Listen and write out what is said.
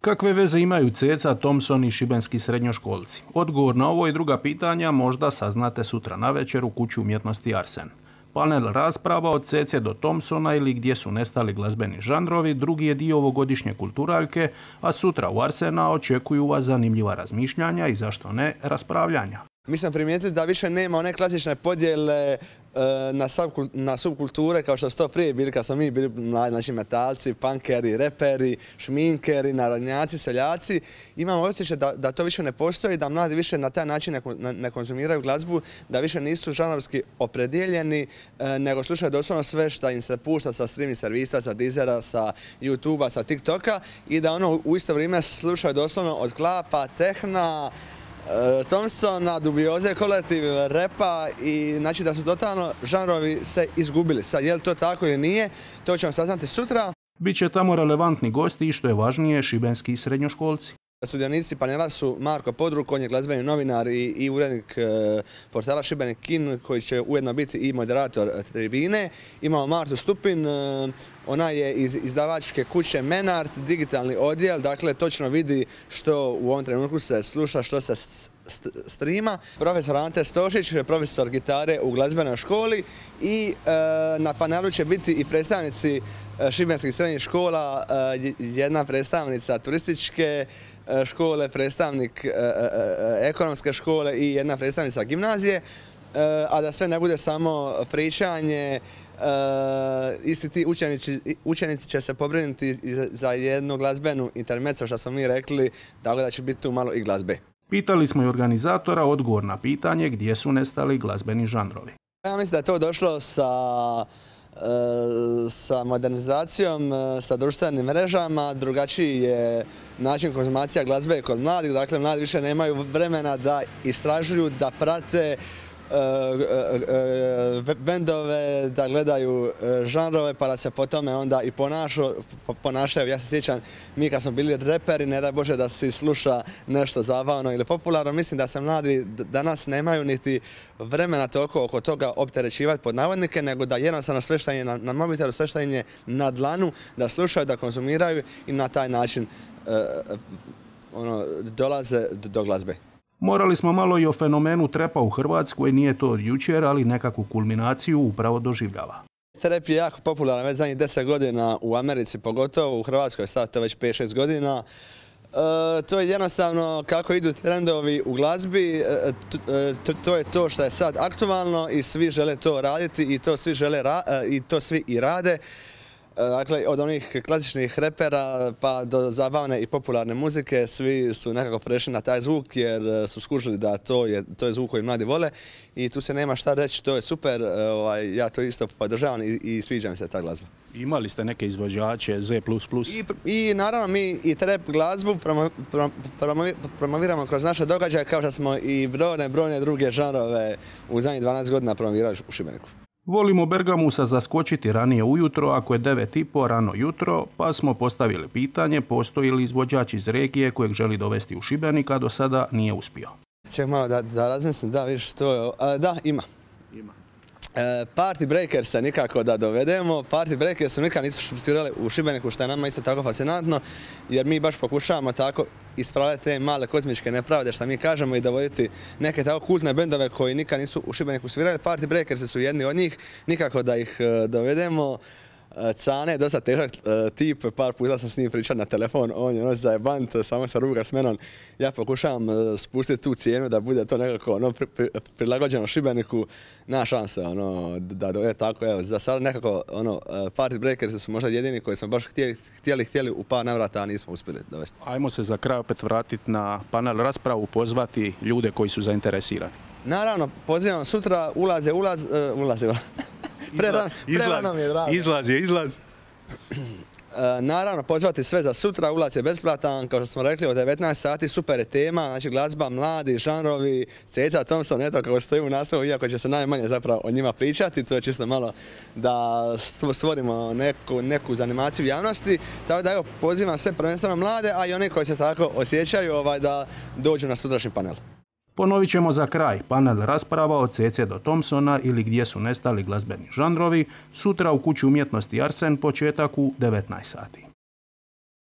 Kakve veze imaju Ceca, Thompson i šibenski srednjoškolci? Odgovor na ovo i druga pitanja možda saznate sutra navečer u Kući umjetnosti Arsen. Panel rasprava od Cece do Thompsona ili Gdje su nestali glazbeni žanrovi drugi je dio ovogodišnje kulturaljke, a sutra u Arsena očekuju vas zanimljiva razmišljanja i zašto ne raspravljanja. Mi smo primijetili da više nema one klasične podjele na subkulture kao što su to prije bili kad smo mi bili mladi, znači metalci, punkeri, reperi, šminkeri, narodnjaci, seljaci. Imamo osjećaj da to više ne postoji, da mladi više na taj način ne konzumiraju glazbu, da više nisu žanrovski opredijeljeni, nego slušaju doslovno sve što im se pušta sa streaming servisa, sa Deezera, sa YouTubea, sa TikToka i da u isto vrijeme slušaju doslovno od klapa, tehna, Thompsona, Dubioze, Kolektiv, repa i znači da su totalno žanrovi se izgubili. Sad, je li to tako ili nije, to ćemo saznati sutra. Biće tamo relevantni gosti i što je važnije, šibenski srednjoškolci. Sudionici panela su Marko Podruk, on je glazbeni novinar i urednik portala Šibenik Kin, koji će ujedno biti i moderator tribine. Imamo Martu Stupin, ona je iz izdavačke kuće Menart, digitalni odjel, dakle točno vidi što u ovom trenutku se sluša, što se streama. Profesor Ante Stošić, profesor gitare u glazbenoj školi i na panelu će biti i predstavnici šibenskih srednjih škola, jedna predstavnica turističke škole, predstavnik ekonomske škole i jedna predstavnica gimnazije, a da sve ne bude samo pričanje, isti ti učenici će se pobrinuti za jednu glazbenu intermezzo, što smo mi rekli, tako da će biti tu malo i glazbe. Pitali smo i organizatora odgovor na pitanje gdje su nestali glazbeni žanrovi. Ja mislim da je to došlo sa modernizacijom, sa društvenim mrežama, drugačiji je način konzumacija glazbe kod mladih, dakle mladi više nemaju vremena da istražuju, da prate bendove, da gledaju žanrove pa da se po tome onda i ponašaju. Ja se sjećam, mi kad smo bili reperi, ne daj Bože da si sluša nešto zabavno ili popularno. Mislim da se mladi danas nemaju niti vremena toliko oko toga opterećivati pod navodnike, nego da jednostavno sve što je na mobitelu, sve što je na dlanu, da slušaju, da konzumiraju i na taj način dolaze do glazbe. Morali smo malo i o fenomenu trepa u Hrvatskoj, nije to od jučer, ali nekakvu kulminaciju upravo doživljava. Trep je jako popularan već zadnjih 10 godina u Americi, pogotovo u Hrvatskoj, sad to već 5-6 godina. To je jednostavno kako idu trendovi u glazbi, to je to što je sad aktualno i svi žele to raditi i to svi i rade. Dakle, od onih klasičnih repera pa do zabavne i popularne muzike, svi su nekako prešli na taj zvuk jer su skužili da to je zvuk koji mladi vole i tu se nema šta reći, to je super, ja to isto podržavam i sviđa mi se ta glazba. Imali ste neke izvođače Z++? I naravno mi i trap glazbu promoviramo kroz naše događaje kao što smo i brojne druge žanrove u zadnjih 12 godina promovirali u Šibeniku. Volimo Bergamusa zaskočiti ranije ujutro, ako je 9:30 rano jutro, pa smo postavili pitanje postoji li izvođač iz regije kojeg želi dovesti u Šibenik, a do sada nije uspio. Ček malo da razmislim, da vidiš što je, da ima. Party Breakers nikako da dovedemo. Party Breakers nikad nisu svirali u Šibeniku, što je nama isto tako fascinantno, jer mi baš pokušavamo tako ispravljati te male kozmičke nepravde što mi kažemo i dovoditi neke tako kultne bendove koji nikad nisu u Šibeniku svirali. Party Breakers su jedni od njih, nikako da ih dovedemo. Cane je dosta težak tip, par puta sam s njim pričao na telefon, on je zajebant, samo se ruga s menom. Ja pokušavam spustiti tu cijenu da bude to nekako prilagođeno Šibeniku, nema šanse da dovede tako. Evo, za sada nekako Party Breakers su možda jedini koji smo baš htjeli u par navrata, a nismo uspjeli dovesti. Ajmo se za kraj opet vratiti na panel raspravu, pozvati ljude koji su zainteresirani. Naravno, pozivam sutra, ulaze. Prerano mi je drago. Izlaz. Naravno, pozvati sve za sutra, ulaz je besplatan, kao što smo rekli, od 19 sati, super je tema, znači glazba, mladi, žanrovi, Ceca, Thompson, eto kako stoji u naslovu, iako će se najmanje zapravo o njima pričati, to je čisto malo da stvorimo neku zanimaciju javnosti, tako da evo, pozivam sve prvenstveno mlade, a i one koji se tako osjećaju da dođu na sutrašnji panel. Ponovit ćemo za kraj panel rasprava od Cece do Thompsona ili Gdje su nestali glazbeni žanrovi, sutra u Kući umjetnosti Arsen, početak u 19 sati.